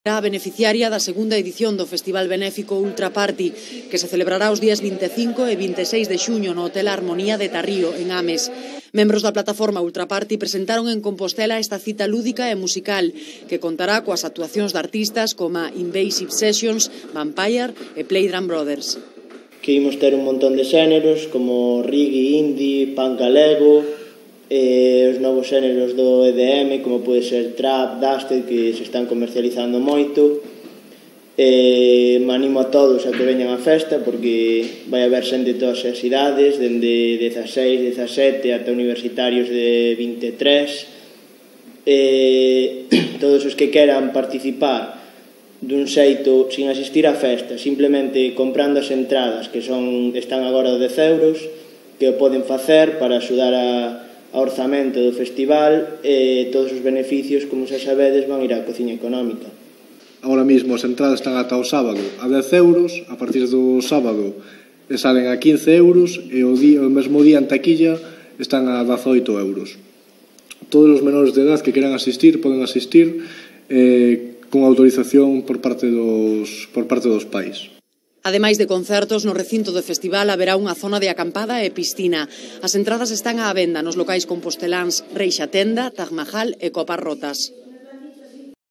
A beneficiaria da segunda edición do Festival Benéfico Ultra Party, que se celebrará os días 25 e 26 de xuño no Hotel Armonía de Tarrío, en Ames. Membros da plataforma Ultra Party presentaron en Compostela esta cita lúdica e musical, que contará coas actuacións de artistas como Invasive Sessions, Vampire e Playdrum Brothers. Que imos ter un montón de xéneros, como reggae, indie, punk galego, os novos xéneros do EDM, como pode ser trap, dubstep, que se están comercializando moito. Me animo a todos a que veñan á festa, porque vai haber xente de todas as idades, dende 16, 17 ata universitarios de 23. Todos os que queran participar dun xeito sin asistir á festa, simplemente comprando as entradas, que están agora a 10 euros, que o poden facer para axudar ao orzamento do festival, e todos os beneficios, como xa sabedes, van ir á cociña económica. Ahora mesmo as entradas están ata o sábado a 10 euros, a partir do sábado salen a 15 euros e o mesmo día en taquilla están a 18 euros. Todos os menores de edad que queran asistir poden asistir con autorización por parte dos pais. Ademais de concertos, no recinto do festival haberá unha zona de acampada e piscina. As entradas están á venda nos locais composteláns Reixa Tenda, Taj Mahal e Copas Rotas.